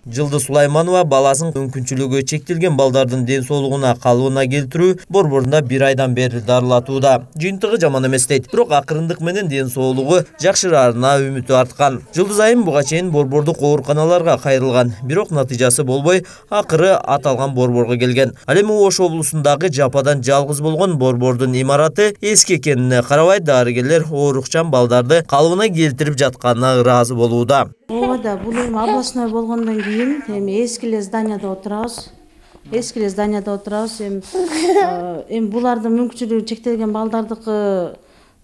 Жылдыз Сулайманова баласын мүмкүнчүлүгү чектелген балдардын ден соолугуна калыбына келтирүү борборунда 1 айдан бери дарылатууда. Жыйынтыгы жаман эмес дейт. Бирок акырындык менен ден соолугу жакшыраарына үмүтү арткан. Жылдыз айым буга чейин борбордук ооруканаларга кайрылган, бирок натыйжасы болбой, акыры аталган борборго келген. Ал эми Ош облусундагы жападан жалгыз болгон борбордун имараты эски экенине карабай, дарыгерлер оорукчан балдарды калыбына келтирип жатканына ыраазы болууда. Ооба, бул эми областной болгондон кийин эми эски эле зданияда отурабыз. Эми булардын мүмкүнчүлүгү чектелген балдардыкы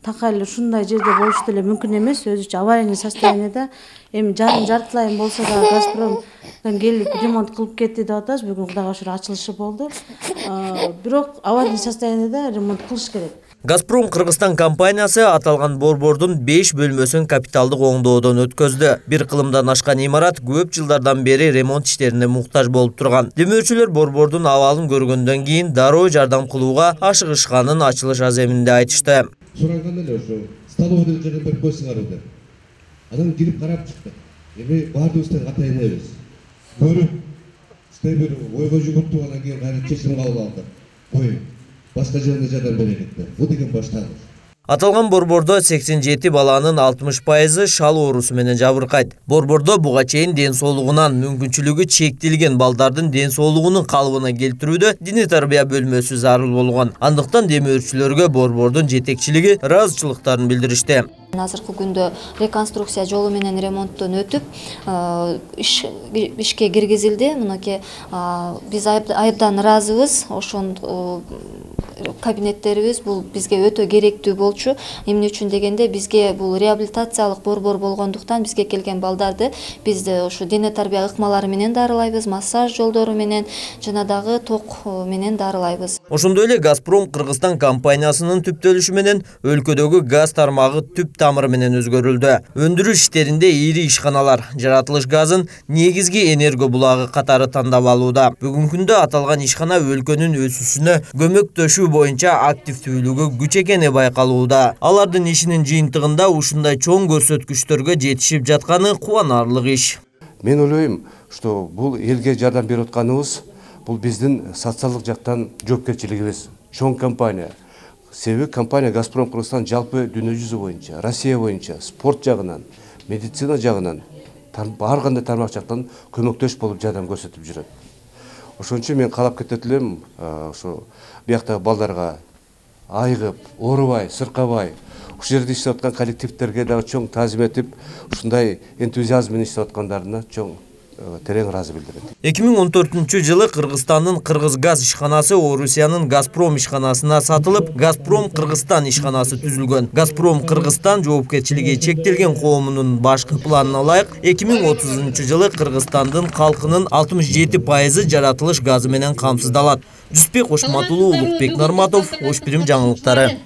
такай эле ушундай жерде болуш деле мүмкүн эмес, өзүчө аварийный состояниеда. Эми жартылай болсо да Газпромдон келип ремонт кылып кетти деп атабыз. Бүгүн Кудайга шүгүр ачылышы болду. Бирок аварийный состояниеда ремонт кылыш керек. Газпром Кыргызстан компаниясы аталган борбордун 5 бөлмөсүн капиталдык оңдоодон өткөздү. Бир кылымдан ашкан имарат көп жылдардан бери ремонт иштерине муктаж болуп турган. Демөөрчүлөр борбордун абалын көргөндөн кийин дароо жардам кылууга ашыгышканын ачылыш аземинде айтышты. Сураганда эле ошо столовойдон жерден берип койсуңар деп. Анан кирип карап чыктык. Эми баардыгыбыз тең атайын эмес. Көрүп, бир ойго жүгүртүп анан кийин кайра чечим кабыл алдык. Кой, башка жерде жардам берелик деп. Бу деген башталыш. Аталган борбордо 87 баланын 60% шал оорусу менен жабыркайт. Борбордо буга чейин ден соолугунан мүмкүнчүлүгү чектелген балдардын ден соолугунун калыбына келтирүүдө диний тарбия бөлмөсү зарыл болгон. Андыктан демөөрчүлөргө борбордун жетекчилиги ыраазычылыктарын билдиришти. Азыркы күндө реконструкция жолу менен ремонттон өтүп, ишке киргизилди. Мынакей биз айдан ыраазыбыз. Ошон кабинеттерибиз бул бизге өтө керектүү болчу. Эмне үчүн дегенде бизге бул реабилитациялык борбор болгондуктан бизге келген балдарды биз ошо дене тарбия ыкмалары менен дарылайбыз, массаж жолдору менен жана дагы ток менен дарылайбыз. Ошондой эле Газпром Кыргызстан компаниясынын түптөлүшү менен өлкөдөгү газ тармагы түп тамыры менен өзгөрүлдү. Өндүрүш иштеринде ири ишканалар жаратылыш газын негизги энерго булагы катары тандап алууда. Бүгүнкү күндө аталган ишкана өлкөнүн өсүүсүнө көмөктөшүү боюнча активдүүлүгү күч экени байкалууда. Алардын ишинин жыйынтыгында ушундай чоң көрсөткүчтөргө жетишип жатканы кубанарлык иш. Мен ойлойм, что бул элге жардам берип атканыбыз бул биздин социалдык жактан жоопкерчилигибиз. Чоң компания. Себеби компания Газпром Кыргызстан жалпы дүйнө жүзү боюнча, Россия боюнча, спорт жагынан, медицина жагынан, ар кандай тармак жактан көмөктөш болуп жардам көрсөтүп жүрөт. Ошон үчүн мен каалап кетет элем, ошо бияктагы балдарга айыгып, оорубай, сыркабай, ушул жерде иштеп аткан коллективдерге дагы чоң таазим этип, ушундай энтузиазм менен иштеп аткандарына чоң терең ыраазы билдирет. 2014-жылы Кыргызстандын Кыргызгаз ишканасы Орусиянын Газпром ишканасына сатылып, Газпром Кыргызстан ишканасы түзүлгөн. Газпром Кыргызстан жоопкерчилиги чектелген коомунун башкы планына ылайык 2030-жылы Кыргызстандын калкынын 67% жаратылыш газы менен камсыздалат. Жүсүпбек Ошматулуу, Улукбек Нарматов, Ош Бирим жаңылыктары.